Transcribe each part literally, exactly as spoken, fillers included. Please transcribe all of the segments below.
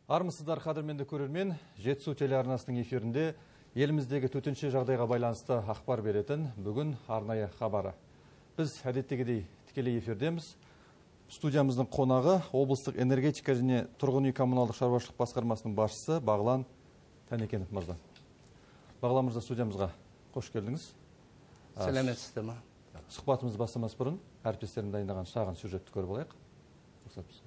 Армысыздар қадірменді көрермен, Жетісу телеарнасының эфирінде еліміздегі төтенше жағдайға байланысты ақпар беретін бүгін арнайы хабары. Біз әдеттегідей тікелей эфирдеміз. Студиямыздың қонағы облыстық энергетика және тұрғын үй коммуналдық шаруашылық басқармасының басшысы Бағлан Тәнекенов мырза. Бағлан мырза, студиямызға қош келдіңіз. Сәлеметсіздер ме? Сұхбатымыз бастамас бұрын әріптестерім дайындаған шағын сюжетті көріп алайық. Рұқсат болса.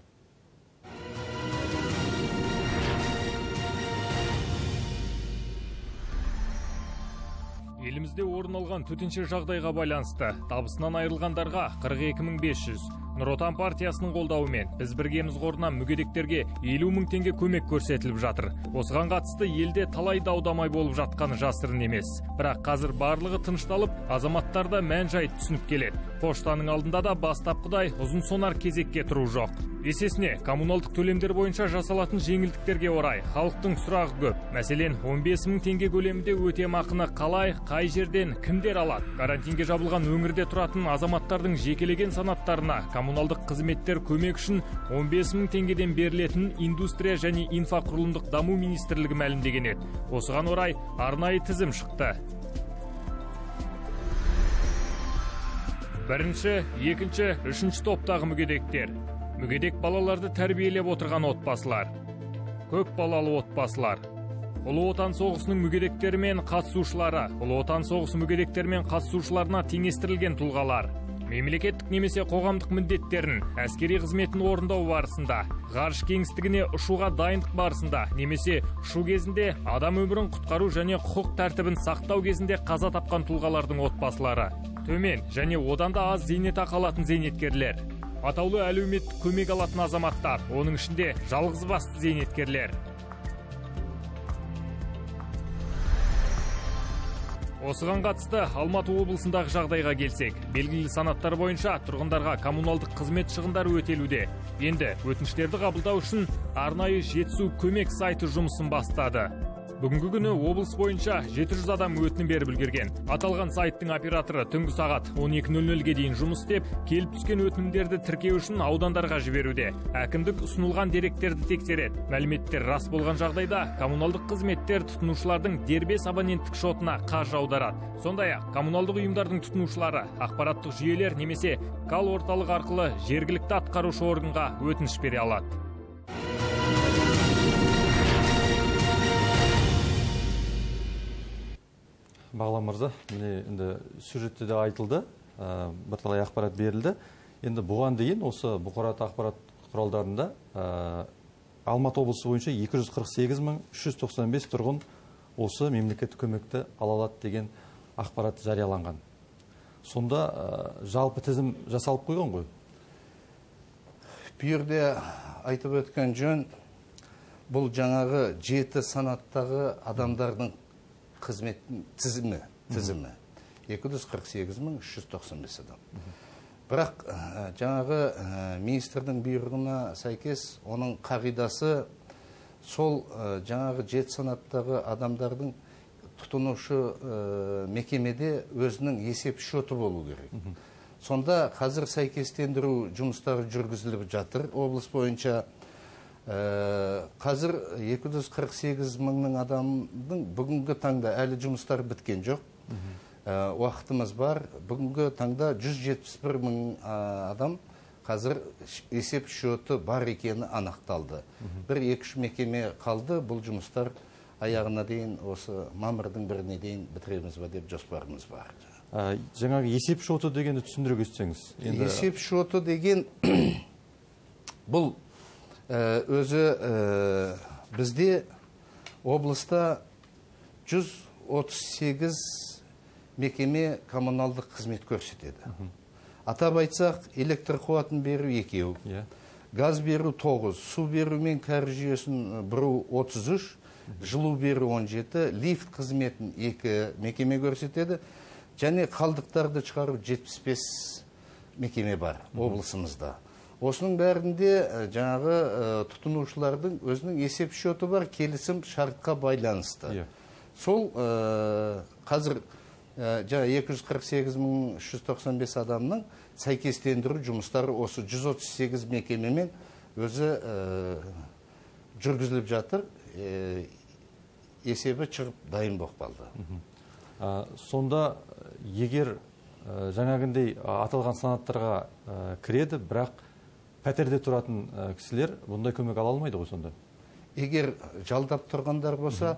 Елімізде орын алған төтенше жағдайға байланысты табысынан айырылғандарға қырық екі мың бес жүз. Нұр Отан партиясының қолдауымен біз біргеміз қорынан мүгедектерге елу мың теңге көмек көрсетіліп жатыр. Осыған қатысты елде талай дау-дамай болып жатқаны жасырын емес. Бірақ қазір барлығы тынышталып, азаматтарда мән-жай түсініп келеді. Поштаның алдында да бастапқыдай ұзын сонар кезекке тұру жоқ. Есесіне, коммуналдық төлемдер бойынша жасалатын жеңілдіктерге орай халықтың сұрағы көп. Мәселен, он бес мың теңге көлемінде өтемақыны қалай, қай жерден, кімдер алады? Карантинге жабылған өңірде тұратын азаматтардың жекелеген санаттарына коммуналдық қызметтер көмек үшін он бес мың теңгеден берілетін индустрия және инфрақұрылымдық даму министрлігі мәлімдеген еді. Осыған орай арнайы тізім шықты. Бірінші, екінші, үшінші топтағы мүгедектер. Мүгедек балаларды тәрбиелеп отырған отбасылар. Көп балалы отбасылар. Ұлы Отан соғысының мүгедектері мен қатысушылары, Ұлы Отан соғысы мүгедектері мен қатысушыларына теңестірілген тұлғалар. Мемлекеттік немесе қоғамдық міндеттерін, әскери қызметін орындау барысында, ғарыш кеңістігіне ұшуға дайындық барысында, немесе ұшу кезінде адам өмірін құтқару және құқық тәртібін сақтау кезінде қаза тапқан тұлғалардың отбасылары. Төмен және одан да аз зейнетақы алатын зейнеткерлер. Атаулы әлеуметтік көмек алатын азаматтар, оның ішінде жалғыз басты зейнеткерлер. Осыған қатысты Алматы облысындағы жағдайға келсек, белгілі санаттар бойынша тұрғындарға коммуналдық қызмет шығындары өтелуде. Енді өтініштерді қабылдау үшін арнайы Жетісу көмек сайты жұмысын бастады. Бүгінгі күні облыс бойынша жеті жүз адам өтінім беріп үлгерген. Аталған сайттың операторы түнгі сағат он екі нөл нөлге дейін жұмыс істеп, келіп түскен өтінімдерді тіркеу үшін аудандарға жіберуде. Әкімдік ұсынылған деректерді тексереді. Мәліметтер рас болған жағдайда коммуналдық қызметтер тұтынушылардың дербес абоненттік шотына қаржы аударады. Сондай-ақ коммуналдық ұйымдардың тұтынушылары ақпараттық жүйелер немесе кал орталық арқылы жергілікті атқарушы органға өтініш бере алады. Бағлан мырза, міне енді сюжетте де айтылды, бірталай ақпарат берілді. Енді бұған дейін осы бұқаралық ақпарат құралдарында Алматы облысы бойынша екі жүз қырық сегіз мың үш жүз тоқсан бес тұрғын осы мемлекеттік көмекті ала алады деген ақпарат жарияланған. Сонда жалпы тізім жасалып қойған ғой? Бұл жерде айтып өткен жөн, бұл жаңағы жеті санаттағы адамдардың қызмет тізімі, тізімі екі жүз қырық сегіз мың үш жүз тоқсан бес адам. Бірақ жаңағы министрдің бұйрығына сәйкес оның қағидасы сол жаңағы жеті санаттағы адамдардың тұтынушы мекемеде өзінің есеп шоты болу керек. Сонда қазір сәйкестендіру жұмыстары жүргізіліп жатыр облыс бойынша. Қазір екі жүз қырық сегіз мыңның адамдың бүгінгі таңда әлі жұмыстар біткен жоқ. Уақытымыз бар. Бүгінгі таңда жүз жетпіс бір мың адам қазір есеп шоты бар екені анықталды. Бір екі үш мекеме қалды. Бұл жұмыстар аяғына дейін осы мамырдың біріне дейін бітіреміз ба деп жоспарымыз бар. Жаңағы есеп шоты дегенді түсіндіре кетсеңіз. Есеп шоты деген бұл өзі бізде облыста жүз отыз сегіз мекеме коммуналдық қызмет көрсетеді. Атап айтсақ, электр қуатын беру екеу, газ беру тоғыз, су беру мен кәріз жүйесін бұру отыз үш, жылу беру он жеті, лифт қызметін екі мекеме көрсетеді, және қалдықтарды шығару жетпіс бес мекеме бар облысымызда. Осының бәрінде жаңағы тұтынушылардың өзінің есеп шоты бар, келісім шартқа байланысты. Сол қазір екі жүз қырық сегіз мың үш жүз тоқсан бес адамның сәйкестендіру жұмыстары осы жүз отыз сегіз мекемемен өзі жүргізіліп жатыр, есебі шығып дайын болып қалды. Сонда егер жаңағындай аталған санаттарға кіреді, бірақ пәтерде тұратын кісілер бұндай көмек ала алмайды ғой сонда? Егер жалдап тұрғандар болса,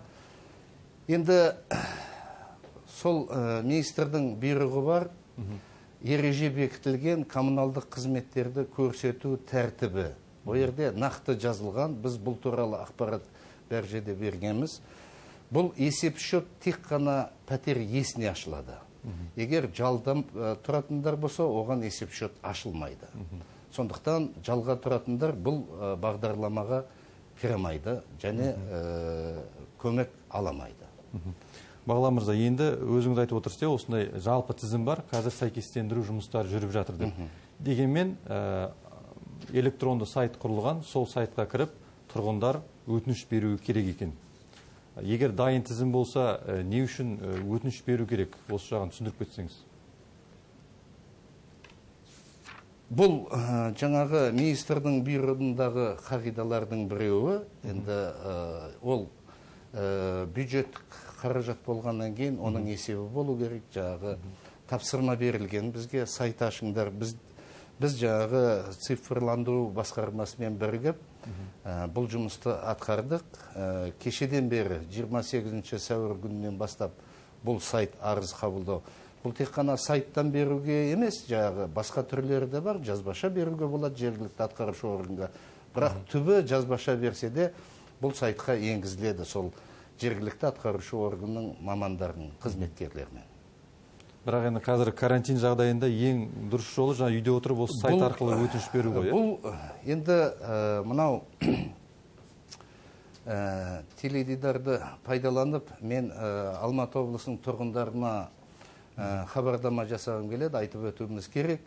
енді сол министрдің бұйрығы бар, ереже бекітілген коммуналдық қызметтерді көрсету тәртібі. Ол жерде нақты жазылған, біз бұл туралы ақпарат бәр жерде бергенбіз. Бұл есеп шот тек қана пәтер иесіне ашылады. Егер жалдап тұратындар болса, оған есеп шот ашылмайды. Сондықтан жалға тұратындар бұл бағдарламаға кіремайды және көмек аламайды. Бағлан мырза, енді өзіңіз айтып отырсыз, осындай жалпы тізім бар, қазір сәйкестендіру жұмыстары жүріп жатыр деп. Дегенмен электронды сайт құрылған, сол сайтқа кіріп тұрғындар өтініш беруі керек екен. Егер дайын тізім болса, не үшін өтініш беру керек? Осы жағын түсіндіріп кетсеңіз. Бұл жаңағы министрдің бұйрығындағы қағидалардың біреуі, енді ол бюджеттік қаражат болғаннан кейін оның есебі болу керек. Жаңағы тапсырма берілген бізге сайт ашыңдар. Біз біз жаңағы цифрландыру басқармасымен бірігіп бұл жұмысты атқардық. Кешеден бері жиырма сегізінші сәуір күнінен бастап бұл сайт арыз қабылдау. Бұл тек қана сайттан беруге емес, жаңағы басқа түрлері де бар, жазбаша беруге болады жергілікті атқарушы органға. Бірақ түбі жазбаша берсе де бұл сайтқа енгізіледі сол жергілікті атқарушы органның мамандарының қызметкерлерімен. Бірақ енді қазір карантин жағдайында ең дұрыс жолы жаңа үйде отырып осы сайт арқылы өтініш беру ғой. Бұл енді мынау теледидарды пайдаланып, мен Алматы облысының тұрғындарына хабардама жасағым келеді, айтып өтуіміз керек.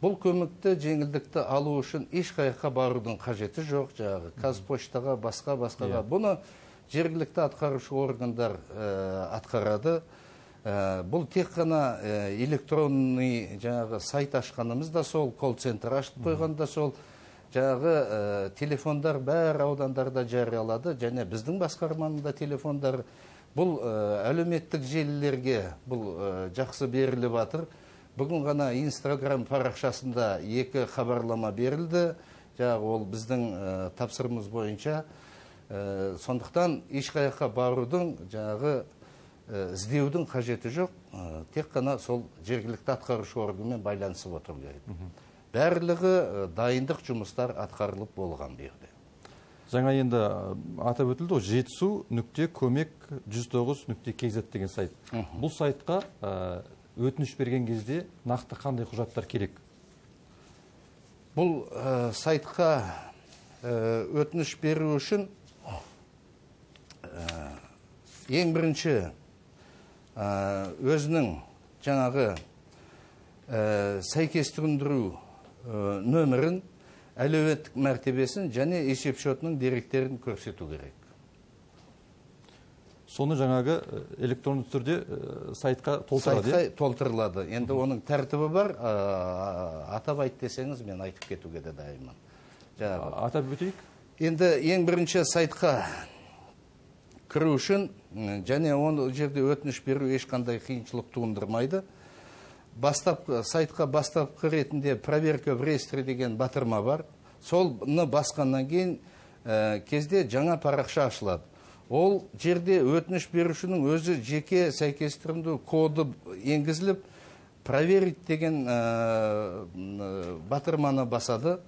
Бұл көмекті жеңілдікті алу үшін ешқайыққа барудың қажеті жоқ. Жаңағы Қазпоштаға, басқа-басқаға. Бұны жергілікті атқарушы органдар атқарады. Бұл тек қана электронный жаңағы сайт ашқанымыз да сол, колл-центр ашып қойған да сол. Жаңағы телефондар бәр аудандарда жариялады, және біздің басқарманың да телефондар. Бұл әлеуметтік желілерге бұл жақсы беріліп жатыр. Бүгін ғана Инстаграм парақшасында екі хабарлама берілді. Жаңағы ол біздің тапсырымыз бойынша. Сондықтан ешқайыққа барудың, жаңағы іздеудің қажеті жоқ. Тек қана сол жергілікті атқарушы органмен байланысып отыру керек. Барлығы дайындық жұмыстар атқарылып болған берді. Жаңа енді атап өтілді, жетісу нүкте көмек жүз тоғыз нүкте кз деген сайт. Бұл сайтқа өтініш берген кезде нақты қандай құжаттар керек? Бұл сайтқа өтініш беру үшін ең бірінші өзінің жаңағы сәйкестендіру нөмірін, әлеуметтік мәртебесін және есеп шотының деректерін көрсету керек. Соны жаңағы электронды түрде сайтқа толтырады? Сайтқа толтырылады. Енді оның тәртібі бар. Атап айт десеңіз, мен айтып кетуге де дайынмын. Атап өтейік? Енді ең бірінші сайтқа кіру үшін және оны жерде өтініш беру ешқандай қиыншылық туындырмайды. Сайтқа бастапқы ретінде проверка в реестре деген батырма бар. Солны басқаннан кейін кезде жаңа парақша ашылады. Ол жерде өтініш берушінің өзі жеке сәйкестендіру коды енгізіліп, проверить деген батырманы басады.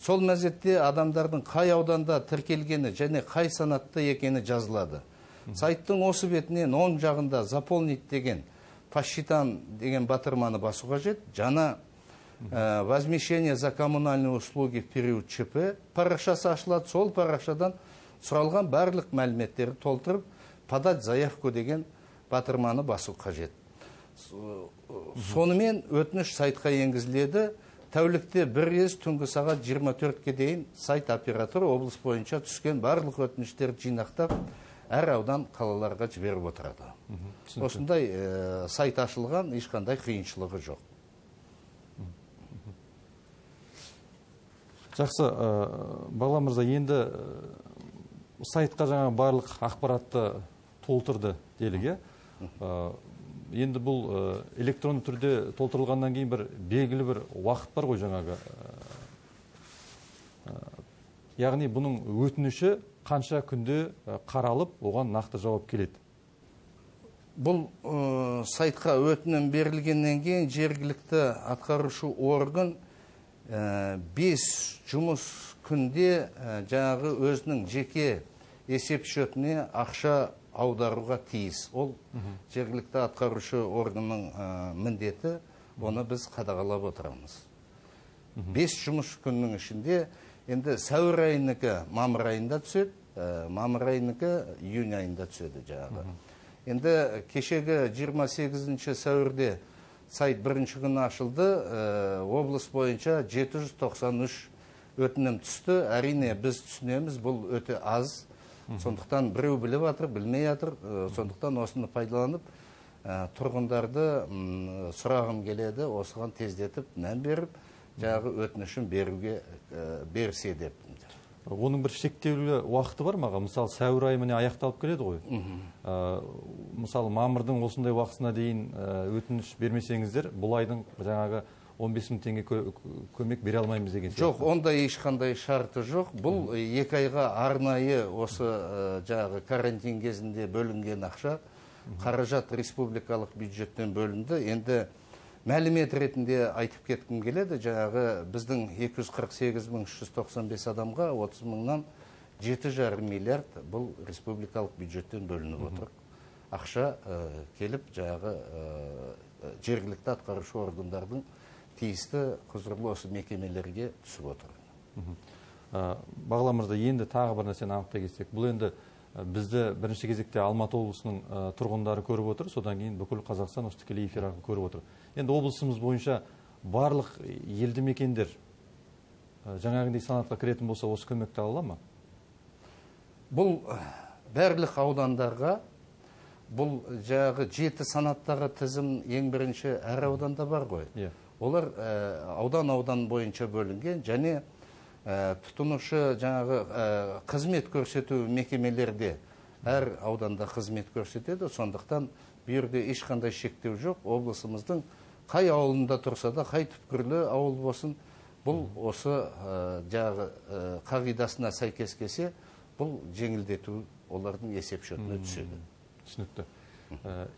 Сол мезетте адамдардың қай ауданда тіркелгені және қай санатта екені жазылады. Сайттың осы бетінен оң жағында заполнить деген, посчитан деген батырманы басу қажет. Жаңа возмещение за коммунальные услуги в период ЧП парақшасы ашылады. Сол парақшадан сұралған барлық мәліметтерді толтырып, подать заявку деген батырманы басу қажет. Сонымен өтініш сайтқа енгізіледі. Тәулікте бір рет түнгі сағат жиырма төртке дейін сайт операторы облыс бойынша түскен барлық өтініштерді жинақтап, әр аудан қалаларға жіберіп отырады. Осындай сайт ашылған, ешқандай қиыншылығы жоқ. Жақсы, Бағлан мырза, енді сайтқа жаңа барлық ақпаратты толтырды делік, енді бұл электронды түрде толтырылғаннан кейін бір белгілі бір уақыт бар ғой жаңағы. Яғни бұның өтініші қанша күнде қаралып, оған нақты жауап келеді? Бұл сайтқа өтінім берілгеннен кейін жергілікті атқарушы орган бес жұмыс күнде жаңағы өзінің жеке есеп шотына ақша аударуға тиіс. Ол жергілікті атқарушы органның міндеті, оны біз қадағалап отырамыз. бес жұмыс күннің ішінде енді сәуір айыныкі мамыр айында түседі, мамыр айыныкі июнь айында түседі жаңағы. Енді кешегі жиырма сегізінші сәуірде сайт бірінші күні ашылды, облыс бойынша жеті жүз тоқсан үш өтінім түсті. Әрине біз түсінеміз, бұл өте аз. Сондықтан біреу біліп жатыр, білмей жатыр. Сондықтан осыны пайдаланып, тұрғындарды сұрағым келеді, осыған тездетіп, мән беріп, жағы өтінішін беруге берсе деп. Оның бір шектеулі уақыты бар маға? Мысалы, сәуір айы міне аяқталып келеді ғой. Мысалы, мамырдың осындай уақытысына дейін өтініш бермесеңіздер, бұл айдың жаңағы он бес мың теңге көмек бере алмаймыз деген. Жоқ, ондай ешқандай шарты жоқ. Бұл екі айға арнайы осы жаңағы карантин кезінде бөлінген ақша, қаражат республикалық бюджеттен бөлінді. Енді мәлімет ретінде айтып кеткім келеді, жаңағы біздің екі жүз қырық сегіз мың үш жүз тоқсан бес адамға отыз мыңнан жеті жарым миллиард бұл республикалық бюджеттен бөлініп отыр. Ақша келіп жаңағы жергілікті атқарушы органдардың тиісті құзырлы осы мекемелерге түсіп отыр. Бағлан мырза, енді тағы бір нәрсені анықтай кетсек, бұл енді бізді бірінші кезекте Алматы облысының тұрғындары көріп отыр, содан кейін бүкіл Қазақстан осы тікелей эфир арқылы көріп отыр. Енді облысымыз бойынша барлық елді мекендер жаңағындай санатқа кіретін болса, осы көмекті ала ма? Бұл барлық аудандарға, бұл жаңағы жеті санаттағы тізім ең бірінші әр ауданда бар ғой. Олар аудан-аудан бойынша бөлінген, және тұтынушы жаңағы қызмет көрсету мекемелерде әр ауданда қызмет көрсетеді. Сондықтан бүйірде ешқандай шектеу жоқ. Облысымыздың қай ауылында тұрса да, қай түпкірлі ауыл болсын, бұл осы жаңағы қағидасына сәйкес келсе, бұл жеңілдету олардың есеп шотына түседі. Түсінікті.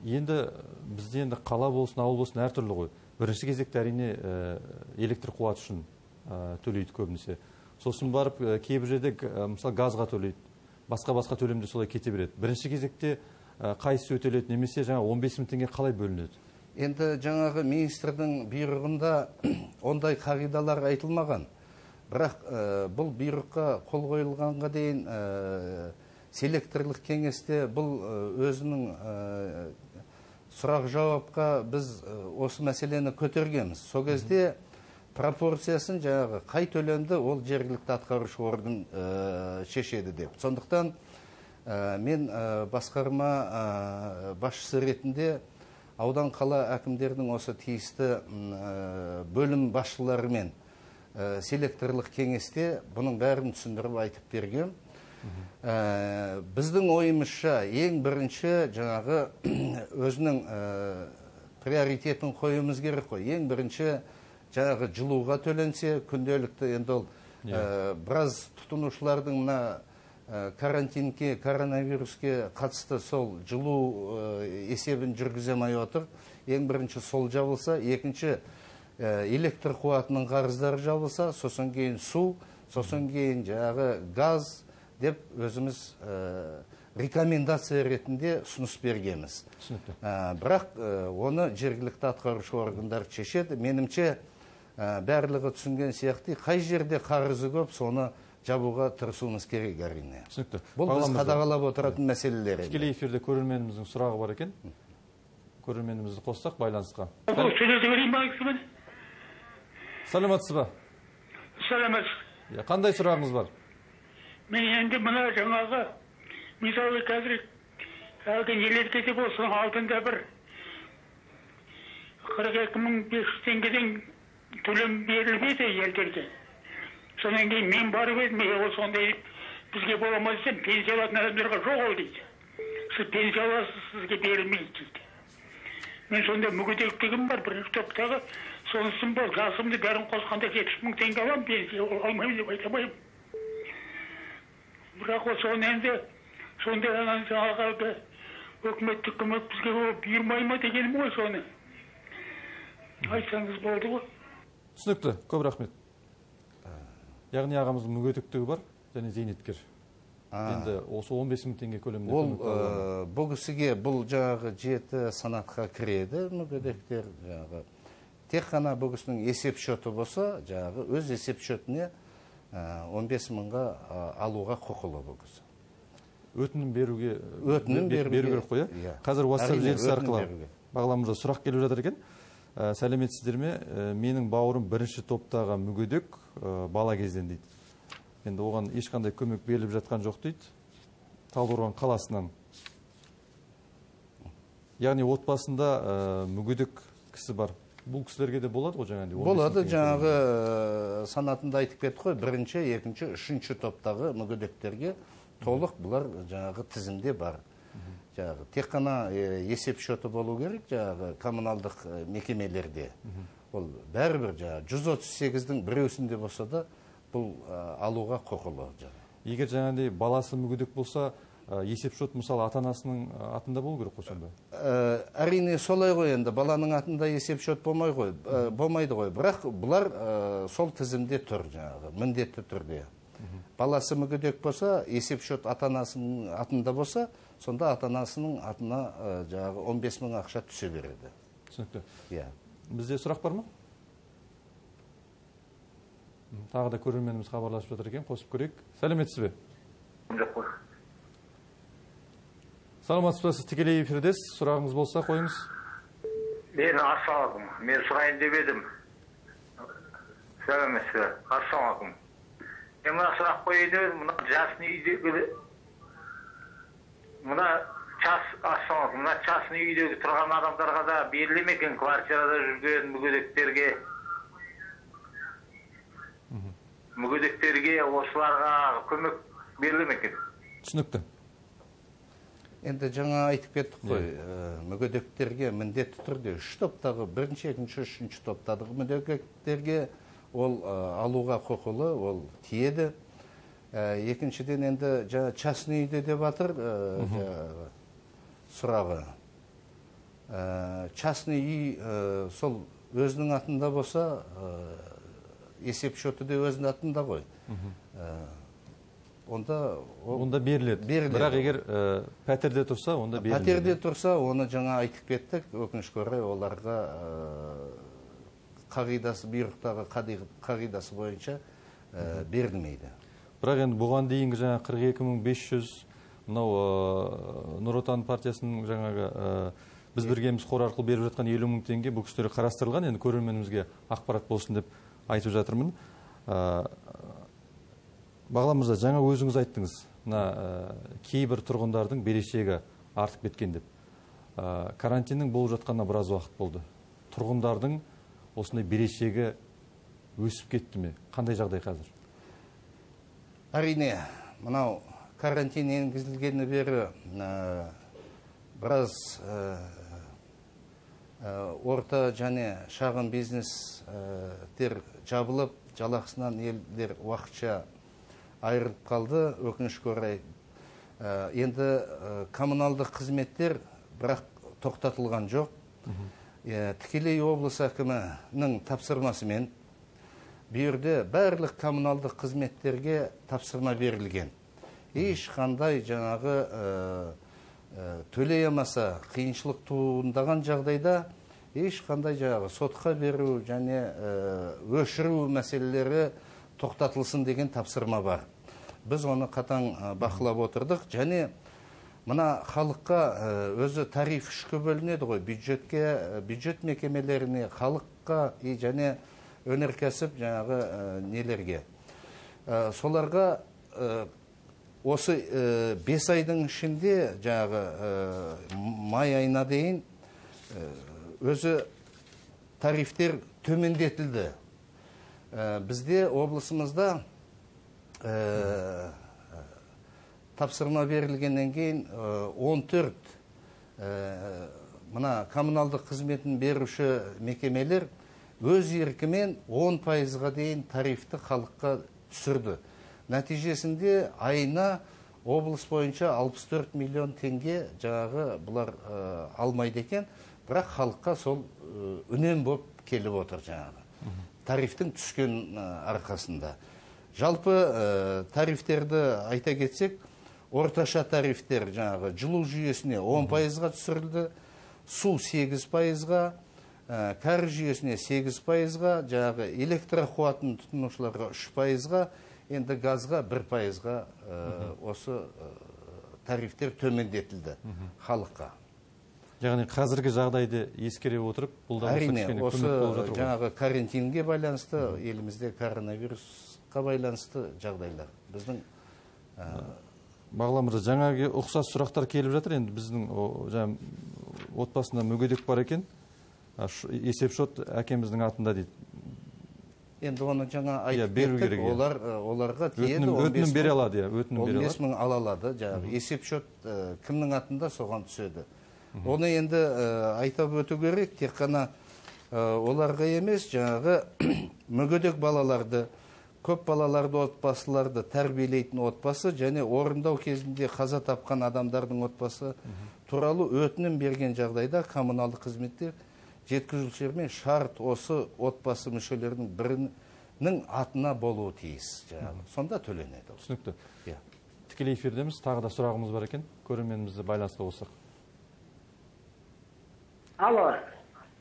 Енді бізде енді қала болсын, ауыл болсын әртүрлі ғой. Бірінші кезекте әрине электр қуаты үшін төлейді көбінесе. Сосын барып кейбір жерде мысалы газға төлейді, басқа-басқа төлемде солай кете береді. Бірінші кезекте қайсысы өтеледі, немесе жаңа он бес мың теңге қалай бөлінеді? Енді жаңағы министрдің бұйрығында ондай қағидалар айтылмаған. Бірақ бұл бұйрыққа қол қойылғанға дейін селекторлық кеңесте бұл өзінің сұрақ жауапқа біз осы мәселені көтергенбіз. Сол кезде пропорциясын жаңағы қай төлемді ол жергілікті атқарушы орган шешеді деп. Сондықтан мен басқарма басшысы ретінде аудан қала әкімдердің осы тиісті бөлім басшыларымен селекторлық кеңесте бұның бәрін түсіндіріп айтып берген. Біздің ойымызша ең бірінші жаңағы өзінің приоритетін қойымыз керек қой. Ең бірінші жаңағы жылуға төленсе, күнделікті енді ол біраз тұтынушылардың мына карантинге, коронавируске қатысты сол жылу есебін жүргізе алмай отыр. Ең бірінші сол жабылса, екінші электр қуатының қарыздары жабылса, сосын кейін су, сосын кейін жаңағы газ деп өзіміз рекомендация ретінде ұсыныс бергенбіз. Бірақ оны жергілікті атқарушы органдар шешеді. Менімше барлығы түсінген сияқты, қай жерде қарызы көп, соны жабуға тырысуымыз керек әрине. Түсінікті. Бұл біз қадағалап отыратын мәселелер. Тікелей эфирде көрерменіміздің сұрағы бар екен. Көрерменімізді қоссақ байланысқа. Саламатсыз ба? Саламатсыз. Қандай сұрағыңыз бар? Мен енді мына жаңағы мысалы қазір әлгі энергетика болсын алдында бір қырық екі мың бес жүз теңгеден төлем берілмеді елдерге. Содан кейін мен барып едім, сондай бізге бола ма десем, пенсия алатын адамдарға жоқ ол дейді. Сіз пенсия аласыз, сізге берілмейді дейді. Мен сонда мүгедектігім бар, бірінші топтағы, сонысын бол, жасымды бәрін қосқанда жетпіс мың теңге аламын, пенсия алмаймын деп айта алмаймын. Бірақ ол соны енді, сонда жаңағы өкіметтік көмек бізге бұйырмай ма дегенім ғой соны. Айтсаңыз болды ғой. Түсінікті, көп рахмет. Яғни ағамыздың мүгедектігі бар және зейнеткер. Енді осы он бес мың теңге көлемінде көмек алады. Ол бұл кісіге бұл жаңағы жеті санатқа кіреді мүгедектер. Тек қана бұл кісінің есеп шоты болса, жаңағы өз есеп шотіне он бес мыңға алуға құқылы бұл кісі. Өтінім беруге өтінім беру керек қой. Қазір WhatsApp желісі арқылы бағаламызда сұрақ келіп жатыр екен. Сәлеметсіздер ме? Менің бауырым бірінші топтағы мүгедек бала кезден дейді. Енді оған ешқандай көмек беріліп жатқан жоқ дейді. Талдықорған қаласынан. Яғни отбасында мүгедек кісі бар. Бұл кісілерге де болады ғой жаңағыдай? Болады, жаңағы санатында айтып кетті ғой, бірінші, екінші, үшінші топтағы мүгедектерге толық бұлар жаңағы тізімде бар. Жаңағы тек қана есеп шоты болу керек, жаңағы коммуналдық мекемелерде. Ол бәрібір жаңағы жүз отыз сегіздің біреусінде болса да бұл алуға құқылы. Егер жаңағыдай баласы мүгедек болса, есеп шот мысалы ата-анасының атында болу керек қой сонда? Әрине солай ғой, енді баланың атында есеп шот болмайды ғой, бірақ бұлар сол тізімде тұр жаңағы, міндетті түрде. Баласы мүгедек болса, есеп шот ата-анасының атында болса, сонда ата-анасының атына жаңағы он бес мың ақша түсе береді. Түсінікті. Иә. Бізде сұрақ бар ма? Тағы да көрерменіміз хабарласып жатыр екен, қосып көрейік. Сәлеметсіз бе? Жоқ қой. Саламатсыз ба, сіз тікелей эфирдесіз, сұрағыңыз болса қойыңыз. Мен ассалаумағалейкум. Мен сұрайын деп едім. Сәлеметсіз бе? Ассалаумағалейкум. Мен мына сұрақ қойды, мына жасын үйдегі мына час ассалаумағалейкум. Мына жасын үйдегі тұрған адамдарға да беріле ме екен, квартирада жүрген мүгедектерге? Мүгедектерге осыларға көмек беріле ме екен? Түсінікті. Енді жаңа айтып кеттік қой, мүгедектерге міндетті түрде үш топтағы, бірінші, екінші, үшінші топтағы мүгедектерге ол алуға құқылы, ол тиеді. Екіншіден енді частный үйде деп жатыр сұрағы. Частный үй сол өзінің атында болса, есеп шоты де өзінің атында ғой. Онда онда беріледі. Бірақ егер пәтерде тұрса, онда беріледі. Пәтерде тұрса, оны жаңа айтып кеттік, өкінішке орай оларға қағидасы, бұйрықтағы қағидасы бойынша берілмейді. Бірақ енді бұған дейінгі жаңа қырық екі мың бес жүз мынау Нұр Отан партиясының жаңағы біз біргеміз қор арқылы беріп жатқан елу мың теңге бұл кісілерге қарастырылған. Енді көрерменімізге ақпарат болсын деп айтып жатырмын. Бағлан мырза, жаңа өзіңіз айттыңыз, кейбір тұрғындардың берешегі артып кеткен деп. Карантиннің болып жатқанына біраз уақыт болды. Тұрғындардың осындай берешегі өсіп кетті ме? Қандай жағдай қазір? Әрине, мынау карантин енгізілгені бері біраз орта және шағын бизнестер жабылып, жалақысынан елдер уақытша айырылып қалды, өкінішке орай. Енді коммуналдық қызметтер бірақ тоқтатылған жоқ. Тікелей облыс әкімінің тапсырмасымен берді барлық коммуналдық қызметтерге тапсырма берілген. Ешқандай жаңағы төлей алмаса, қиыншылық туындаған жағдайда ешқандай жаңағы сотқа беру және өшіру мәселелері тоқтатылсын деген тапсырма бар. Біз оны қатаң бақылап отырдық, және мына халыққа өзі тариф үшке бөлінеді ғой, бюджетке, бюджет мекемелеріне, халыққа және өнеркәсіп жаңағы нелерге. Соларға осы бес айдың ішінде жаңағы май айына дейін өзі тарифтер төмендетілді. Бізде облысымызда тапсырма берілгеннен кейін он төрт мына коммуналдық қызметін беруші мекемелер өз еркімен он пайызға дейін тарифті халыққа түсірді. Нәтижесінде айына облыс бойынша алпыс төрт миллион теңге жаңағы бұлар алмайды екен, бірақ халыққа сол үнем болып келіп отыр жаңағы. Тарифтің түскен арқасында. Жалпы тарифтерді айта кетсек, орташа тарифтер жаңағы жылу жүйесіне он пайызға түсірілді, су сегіз пайызға, кәріз жүйесіне сегіз пайызға, жаңағы электр қуатын тұтынушыларға үш пайызға, енді газға бір пайызға осы тарифтер төмендетілді халыққа. Яғни қазіргі жағдайды ескере отырып, бұл да әрине, осы жаңағы карантинге байланысты, елімізде коронавирусқа байланысты жағдайлар. Біздің Бағлан мырза, жаңағы ұқсас сұрақтар келіп жатыр. Енді біздің отбасында мүгедек бар екен, есепшот әкеміздің атында дейді. Енді оны жаңа айтып кеттік, оларға тиеді, өтінім бере алады, он бес мың ала алады, жаңағы есепшот кімнің атында соған түседі. Оны енді айтып өту керек, тек қана оларға емес, жаңағы мүгедек балаларды, көп балаларды отбасыларды тәрбиелейтін отбасы және орындау кезінде қаза тапқан адамдардың отбасы туралы өтінім берген жағдайда коммуналдық қызметтер жеткізушілермен шарт осы отбасы мүшелерінің бірінің атына болуы тиіс. Сонда төленеді. Түсінікті. Тікелей эфирдеміз, тағы да сұрағымыз бар екен, көрерменімізді байланысқа қоссақ. Алло.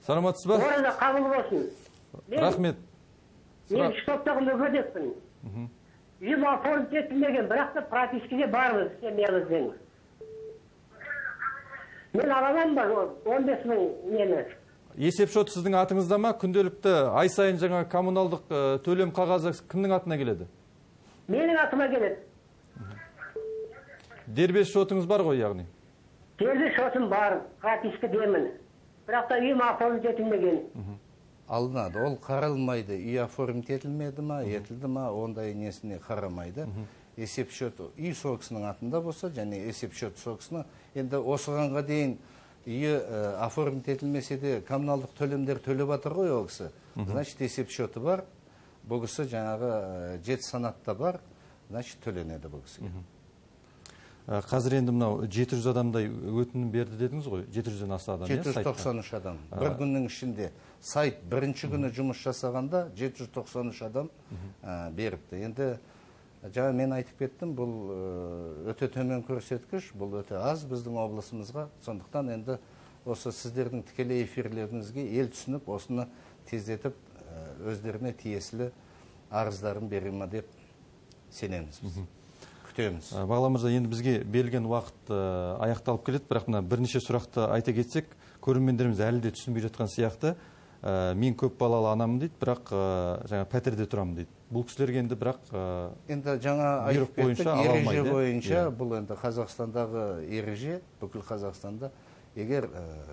Саламатсыз ба? Орында қабыл болсын. Рахмет. Мен штоптағы мүгедекпін. Үйім оформить етілмеген, бірақ та пропискеде бармыз, семьямызбен. Мен аламын ба он бес мың нені? Есепшот сіздің атыңызда ма? Күнделікті ай сайын жаңа коммуналдық төлем қағазы кімнің атына келеді? Менің атыма келеді. Дербес шотыңыз бар ғой, яғни? Дербес шотым бар, пропискедемін. Бірақ та үйім оформить етілмеген. Алынады, ол қаралмайды, үй оформить етілмеді ма, етілді ма, ондай несіне қарамайды. Есепшот үй соғысының атында болса, және есепшот соғысына, енді осығанға дейін үйі оформить етілмесе де коммуналдық төлемдер төлеп атыр ғой ол кісі. Значит, есепшоты бар, бұл кісі жаңағы жеті санатта бар, значит, төленеді бұл кісіге. Қазір енді мынау жеті жүз адамдай өтінім берді дедіңіз ғой, жеті жүзден аса адам. жеті жүз тоқсан үш адам. Бір күннің ішінде сайт бірінші күні жұмыс жасағанда жеті жүз тоқсан үш адам беріпті. Енді жаңа мен айтып кеттім, бұл өте төмен көрсеткіш, бұл өте аз біздің облысымызға. Сондықтан енді осы сіздердің тікелей эфирлеріңізге ел түсініп, осыны тездетіп өздеріне тиесілі арыздарын бере ме деп сенеміз біз. Бағлан мырза, енді бізге берілген уақыт аяқталып келеді, бірақ мына бірнеше сұрақты айта кетсек, көрермендеріміз әлі де түсінбей жатқан сияқты. Мен көп балалы анамын дейді, бірақ жаңа пәтерде тұрамын дейді. Бұл кісілерге енді бірақ енді жаңа айтып кеттік, ереже бойынша, бұл енді Қазақстандағы ереже, бүкіл Қазақстанда, егер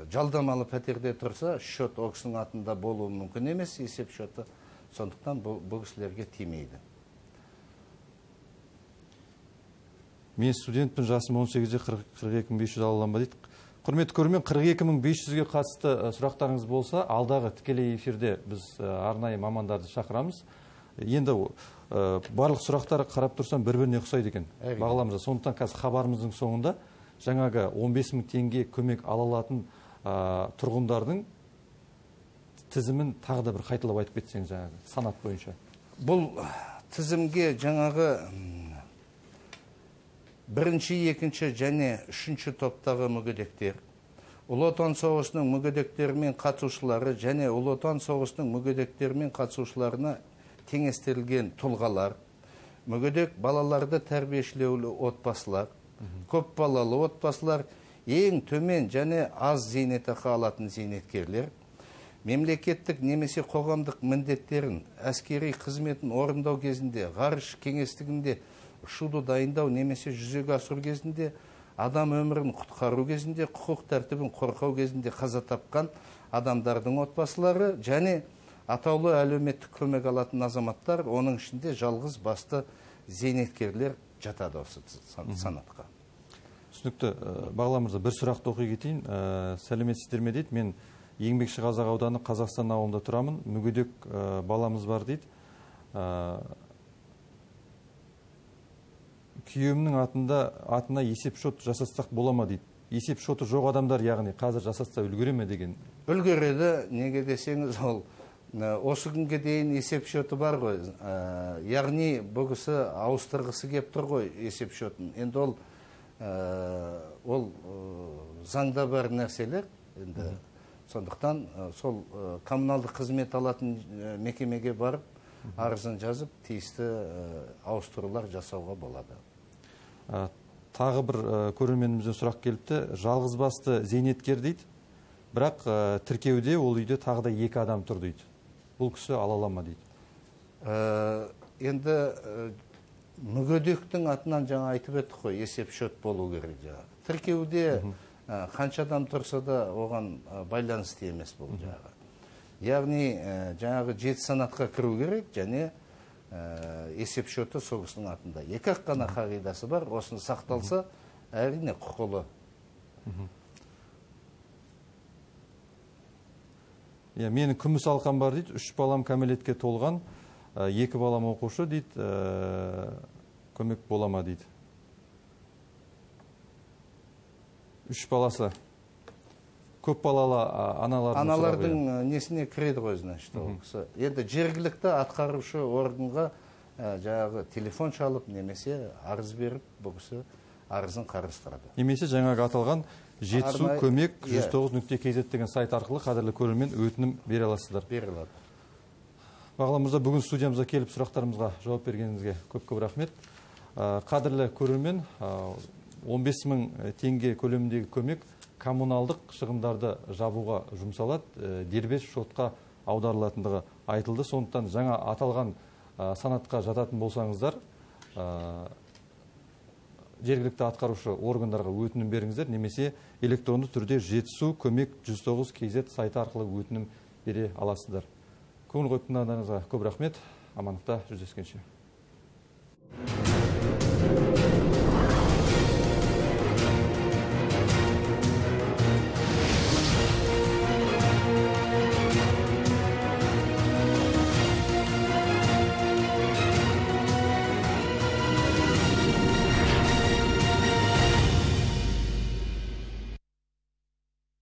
жалдамалы пәтерде тұрса, шот ол кісінің атында болуы мүмкін емес, есеп шоты, сондықтан бұл кісілерге тимейді. Мен студентпін, жасым он сегізде, қырық екі мың бес жүз алаланба дейді. Құрметті көрермен, қырық екі мың бес жүзге қатысты сұрақтарыңыз болса, алдағы тікелей эфирде біз арнайы мамандарды шақырамыз. Енді барлық сұрақтар қарап тұрсам бір-біріне ұқсайды екен. Бағлан мырза, сондықтан қазір хабарымыздың соңында жаңағы он бес мың теңге көмек ала алатын тұрғындардың тізімін тағы да бір қайталап айтып кетсеңіз, жаңағы санат бойынша. Бұл тізімге жаңағы бірінші, екінші және үшінші топтағы мүгедектер, Ұлы Отан соғысының мүгедектерімен қатысушылары және Ұлы Отан соғысының мүгедектерімен қатысушыларына теңестірілген тұлғалар, мүгедек балаларды тәрбиешілеулі отбасылар, көп балалы отбасылар, ең төмен және аз зейнетақы алатын зейнеткерлер, мемлекеттік немесе қоғамдық міндеттерін, әскери қызметін орындау кезінде, ғарыш кеңістігінде ұшуды дайындау немесе жүзеге асыру кезінде, адам өмірін құтқару кезінде, құқық тәртібін қорғау кезінде қаза тапқан адамдардың отбасылары және атаулы әлеуметтік көмек алатын азаматтар, оның ішінде жалғыз басты зейнеткерлер жатады осы санатқа. Түсінікті. Бағлан мырза, бір сұрақты оқи кетейін. Сәлеметсіздер ме дейді. Мен Еңбекші Қазақ ауданы Қазақстан ауылында тұрамын. Мүгедек баламыз бар дейді. Күйеуімнің атында атына есеп шот жасастақ бола ма дейді. Есеп шоты жоқ адамдар, яғни қазір жасатса үлгере ме деген. Үлгереді, неге десеңіз, ол осы күнге дейін есеп шоты бар ғой. Яғни бұл кісі ауыстырғысы кеп тұр ғой есеп шотын. Енді ол ол заңда бар нәрселер. Енді сондықтан сол коммуналдық қызмет алатын мекемеге барып, арызын жазып, тиісті ауыстырулар жасауға болады. Тағы бір көрерменімізден сұрақ келіпті. Жалғыз басты зейнеткер дейді, бірақ тіркеуде ол үйде тағы да екі адам тұр дейді. Бұл кісі ала ала ма дейді. Енді мүгедектің атынан жаңа айтып еттік қой, есеп шот болу керек жаңа. Тіркеуде қанша адам тұрса да оған байланысты емес бұл жаңағы. Яғни жаңағы жеті санатқа кіру керек, және есеп шоты сол кісінің атында. Екі ақ қана қағидасы бар, осыны сақталса, әрине құқылы. Менің күміс алқам бар дейді, үш балам кәмелетке толған, екі балам оқушы дейді, көмек бола ма дейді. Үш баласы көп балалы аналардың аналардың несіне кіреді ғой, значит, ол кісі. Енді жергілікті атқарушы органға жаңағы телефон шалып, немесе арыз беріп, бұл кісі арызын қарастырады. Немесе жаңағы аталған жетісу көмек жүз тоғыз нүкте кз деген сайт арқылы қадірлі көрермен өтінім бере аласыздар. Бере алады. Бағлан мырза, бүгін студиямызға келіп сұрақтарымызға жауап бергеніңізге көп-көп рахмет. Қадірлі көрермен, он бес мың теңге көлеміндегі көмек коммуналдық шығындарды жабуға жұмсалады, дербес шотқа аударылатындығы айтылды. Сондықтан жаңа аталған санатқа жататын болсаңыздар, жергілікті атқарушы органдарға өтінім беріңіздер, немесе электронды түрде жетісу көмек жүз тоғыз кз сайты арқылы өтінім бере аласыздар. Көңіл қойып тыңдағандарыңызға көп рахмет. Амандықта жүздескенше.